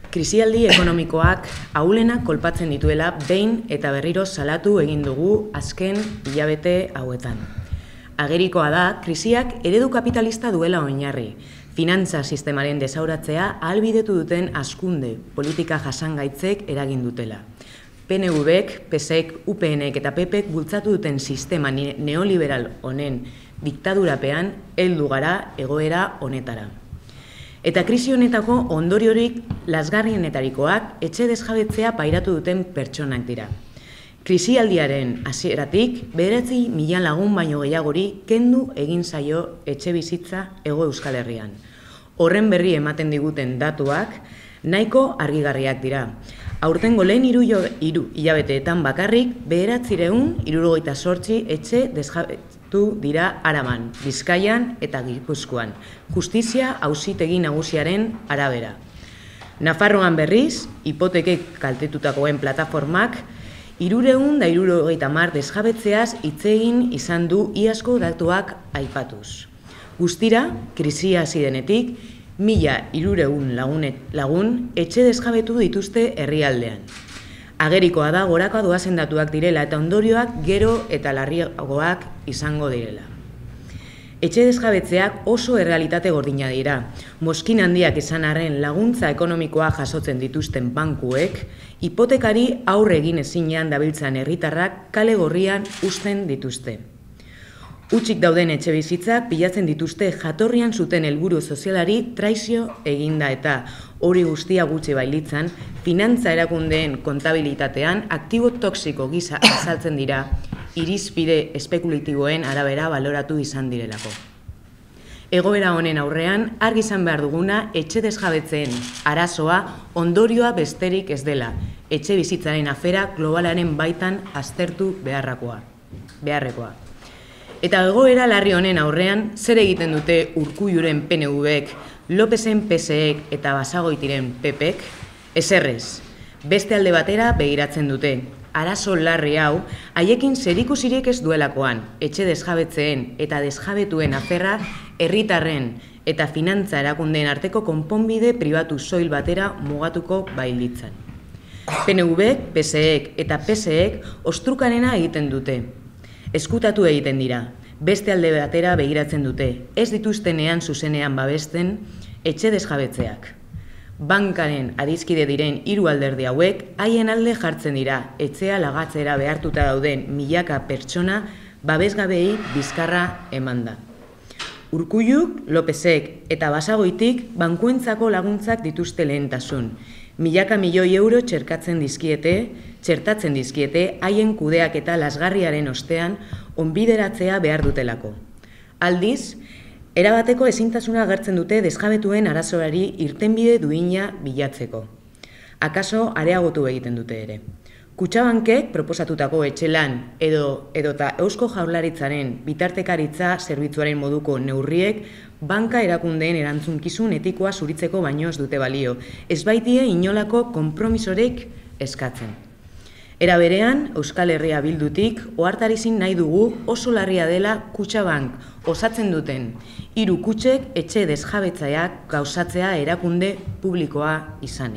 Krisialdi ekonomikoak ahulenak kolpatzen dituela behin eta berriro salatu egin dugu azken hilabete hauetan. Agerikoa da, krisiak eredu kapitalista duela oinarri, finantza sistemaren desauratzea ahalbidetu duten hazkunde politika jasangaitzek eragin dutela. PNV-ek, PSek, UPNek eta PPek bultzatu duten sistema neoliberal honen diktadurapean heldu gara egoera honetara. Eta krisi honetako ondoriorik lazgarrienetarikoak etxe desjabetzea pairatu duten pertsonak dira. Krisialdiaren hasieratik 9.000 lagun baino gehiagori kendu egin zaio etxe bizitza Hego Euskal Herrian. Horren berri ematen diguten datuak nahiko argigarriak dira. Aurtengo lehen hiru hilabeteetan bakarrik 978 etxe desjabetu dira Araban, Bizkaian eta Gipuzkoan, justizia auzitegi nagusiaren arabera. Nafarroan berriz, hipotekek kaltetutakoen plataformak 370 desjabetzeaz hitz egin izan du iazko datuak aipatuz. Guztira, krisia hasi denetik, 1.300 lagun etxe desjabetu dituzte herrialdean. Agerikoa da goraka doazen datuak direla eta ondorioak gero eta larriagoak izango direla. Etxe desjabetzeak oso errealitate gordina dira. Mozkin handiak izan arren laguntza ekonomikoa jasotzen dituzten bankuek, hipotekari aurre egin ezinean dabiltzan herritarrak kale gorrian uzten dituzte. Hutsik dauden etxe bizitzak bilatzen dituzte jatorrian zuten helburu sozialari traizio eginda eta hori guztia gutxi bailitzan, finantza erakundeen kontabilitatean aktibo toxiko gisa azaltzen dira, irizpide espekulatiboen arabera baloratu izan direlako. Egoera honen aurrean, argi izan behar duguna etxe desjabetzeen arazoa ondorioa besterik ez dela, etxe bizitzaren afera globalaren baitan aztertu beharrekoa. Eta egoera larri honen aurrean, zer egiten dute Urkulluren PNV-ek, Lopezen PSek eta Basagoitiren PPek? Ezerrez, beste alde batera begiratzen dute. Arazo larri hau, haiekin zerikusirik ez duelakoan, etxe desjabetzeen eta desjabetuen aferra herritarren eta finantza erakundeen arteko konponbide pribatu soil batera mugatuko bailitzan. PNV-ek, PSek eta PSek ostrukarena egiten dute. Eskutatu egiten dira, beste alde batera begiratzen dute, ez dituztenean zuzenean babesten etxe desjabetzeak. Bankaren adizkide diren 3 alderdi hauek haien alde jartzen dira, etxea lagatzera behartuta dauden milaka pertsona babesgabei bizkarra emanda. Urkulluk, Lopezek eta Basagoitik bankuentzako laguntzak dituzte lehentasun. Milaka milioi euro txertatzen dizkiete haien kudeak eta lasgarriaren ostean onbideratzea behar dutelako. Aldiz, erabateko ezintasuna agertzen dute desjabetuen arazoari irtenbide duina bilatzeko. Akaso areagotu egiten dute ere. Kutxabankek proposatutako etxelan edota Eusko Jaurlaritzaren bitartekaritza zerbitzuaren moduko neurriek banka erakundeen erantzunkizun etikoa zuritzeko baino ez dute balio, ez baitie inolako konpromisorik eskatzen. Era berean, Euskal Herria Bildutik ohartarazin nahi dugu oso larria dela Kutxabank osatzen duten 3 kutxek etxe desjabetzaileak gauzatzea erakunde publikoa izanik.